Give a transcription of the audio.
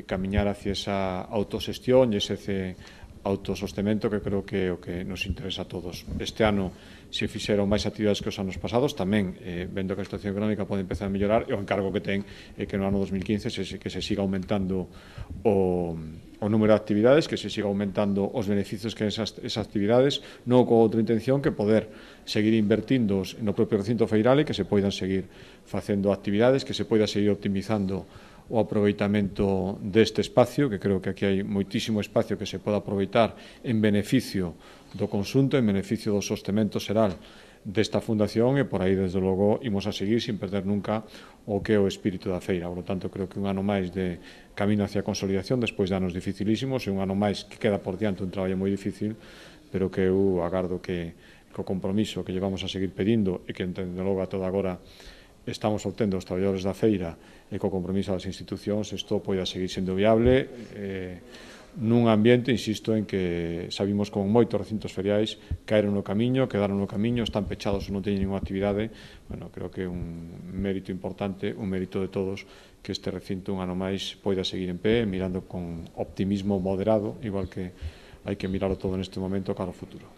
camiñar hacia esa autoxestión e ese autosostemento que creo que é o que nos interesa a todos. Este ano se fixeron máis actividades que os anos pasados, tamén vendo que a situación económica pode empezar a mellorar, e o encargo que ten é que no ano 2015 que se siga aumentando o número de actividades, que se siga aumentando os beneficios que esas actividades, non con outra intención que poder seguir invertindo no propio recinto feiral e que se poidan seguir facendo actividades, que se poida seguir optimizando o aproveitamento deste espacio, que creo que aquí hai moitísimo espacio que se pode aproveitar en beneficio do conxunto, en beneficio do sostemento xeral desta fundación, e por aí, desde logo, imos a seguir sin perder nunca o que é o espírito da feira. Por lo tanto, creo que un ano máis de camino hacia a consolidación, despois de anos dificilísimos, e un ano máis que queda por diante un traballo moi difícil, pero que eu agardo que o compromiso que llevamos a seguir pedindo e que, entendo logo, a toda agora estamos obtendo os traballadores da feira e co compromiso das institucións, isto poida seguir sendo viable nun ambiente, insisto, en que sabimos como moitos recintos feriais caeron no camiño, quedaron no camiño, están pechados ou non teñen ninguna actividade. Bueno, creo que é un mérito importante, un mérito de todos, que este recinto un ano máis poida seguir en pé, mirando con optimismo moderado, igual que hai que miralo todo neste momento cara ao futuro.